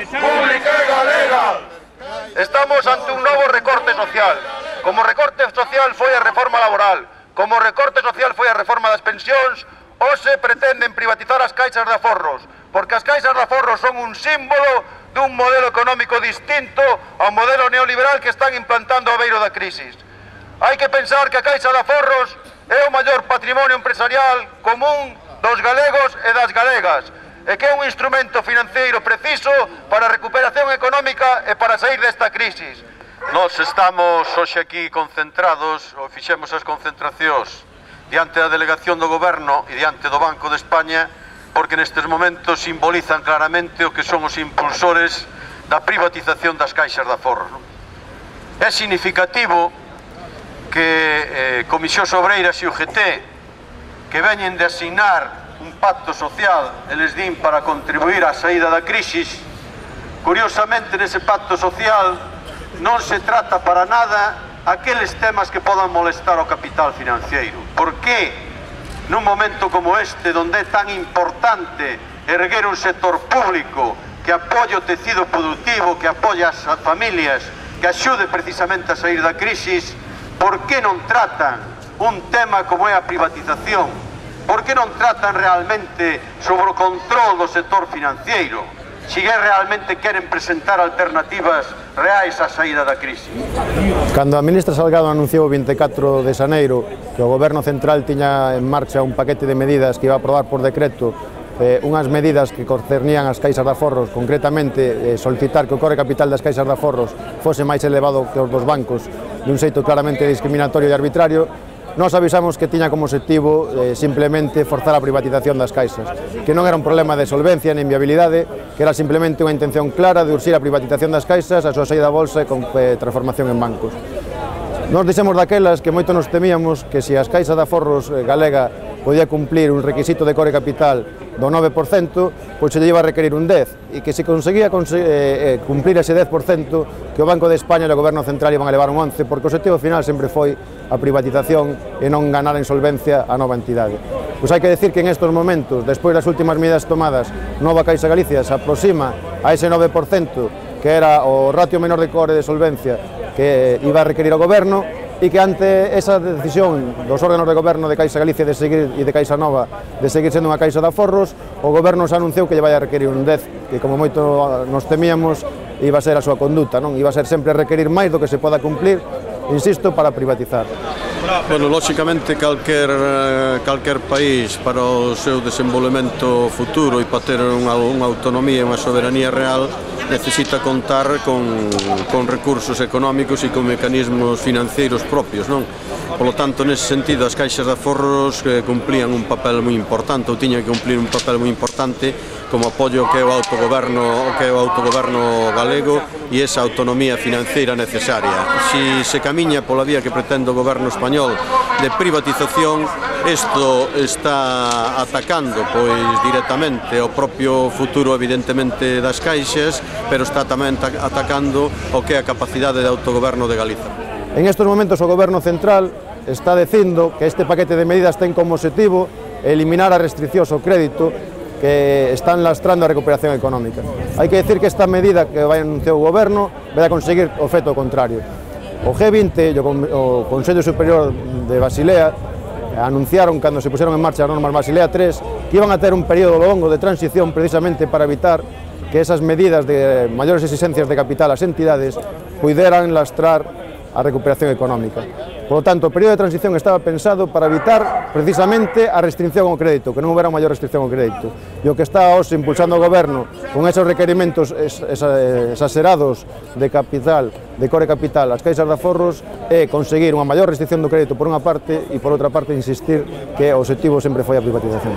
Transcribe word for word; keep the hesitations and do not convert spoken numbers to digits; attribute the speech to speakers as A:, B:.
A: pública e galega. Estamos ante un novo recorte social. Como recorte social foi a reforma laboral, como recorte social foi a reforma das pensións, hoxe pretenden privatizar as caixas de aforros, porque as caixas de aforros son un símbolo dun modelo económico distinto ao modelo neoliberal que están implantando ao beiro da crisis. Hai que pensar que a caixa de aforros é o maior patrimonio empresarial común dos galegos e das galegas, e que é un instrumento financeiro preciso para a recuperación económica e para sair desta crisis.
B: Nós estamos hoxe aquí concentrados, ou fixemos as concentracións diante da delegación do Goberno e diante do Banco de España, porque nestes momentos simbolizan claramente o que son os impulsores da privatización das caixas de aforros. É significativo que eh, Comisións Obreiras e U G T, que veñen de asignar un pacto social, eles din para contribuir á saída da crisis, curiosamente nese pacto social non se trata para nada aqueles temas que podan molestar ao capital financiero. Por que nun momento como este, onde é tan importante erguer un sector público que apoie o tecido productivo, que apoie as familias, que axude precisamente a sair da crisis, por que non tratan un tema como é a privatización? Por que non tratan realmente sobre o control do sector financiero? Se realmente queren presentar alternativas reais á saída da crise.
C: Cando a ministra Salgado anunciou o vinte e catro de xaneiro que o Goberno Central tiña en marcha un paquete de medidas que iba a aprobar por decreto, eh, unhas medidas que concernían as caixas de aforros, concretamente eh, solicitar que o core capital das caixas de aforros fose máis elevado que os dos bancos, de un xeito claramente discriminatorio e arbitrario, nós avisamos que tiña como objetivo eh, simplemente forzar a privatización das caixas, que non era un problema de solvencia nem viabilidade, que era simplemente unha intención clara de urxir a privatización das caixas, a súa saída a bolsa e con eh, transformación en bancos. Nos dixemos daquelas que moito nos temíamos que se as caixas de aforros eh, galega podía cumplir un requisito de core capital do nove por cento, pois se lle iba a requerir un dez, e que se conseguía eh, cumplir ese dez por cento, que o Banco de España e o Goberno Central iban a levar un once, porque o objetivo final sempre foi a privatización e non ganar en solvencia a nova entidade. Pois hai que decir que en estes momentos, despois das últimas medidas tomadas, Nova Caixa Galicia se aproxima a ese nove por cento, que era o ratio menor de core de solvencia que iba a requerir o Goberno, e que ante esa decisión dos órganos de goberno de Caixa Galicia de seguir, e de Caixa Nova de seguir sendo unha caixa de aforros, o Goberno se anunciou que lle vai a requerir un dez, que como moito nos temíamos iba a ser a súa conduta, non? Iba a ser sempre requerir máis do que se poda cumplir, insisto, para privatizar.
B: Bueno, lóxicamente, calquer, calquer país para o seu desenvolvemento futuro e para ter unha, unha autonomía e unha soberanía real necesita contar con, con recursos económicos e con mecanismos financeiros propios, non? Polo tanto, nese sentido, as caixas de aforros eh, cumplían un papel moi importante, ou tiñan que cumplir un papel moi importante como apoio que é o autogoberno, que é o autogoberno galego e esa autonomía financeira necesaria. Si se camiña pola vía que pretende o goberno español de privatización, isto está atacando pois directamente o propio futuro evidentemente das caixas, pero está tamén atacando o que é a capacidade de autogoberno de Galiza.
C: En estes momentos o Goberno Central está dicindo que este paquete de medidas ten como objetivo eliminar as restriccións ao crédito que están lastrando a recuperación económica. Hai que decir que esta medida que vai anunciar o Goberno vai a conseguir o efecto contrario. O G vinte e o Consello Superior de Basilea anunciaron, cando se puseron en marcha as normas Basilea tres, que iban a ter un período longo de transición precisamente para evitar que esas medidas de maiores exigencias de capital ás entidades puderan lastrar a recuperación económica. Por lo tanto, o período de transición estaba pensado para evitar precisamente a restricción ao crédito, que non houbera maior restricción ao crédito. E o que está hoxe impulsando o Goberno con esos requerimentos exagerados de capital, de core capital, as caixas de aforros, é conseguir unha maior restricción do crédito por unha parte e por outra parte insistir que o objetivo sempre foi a privatización.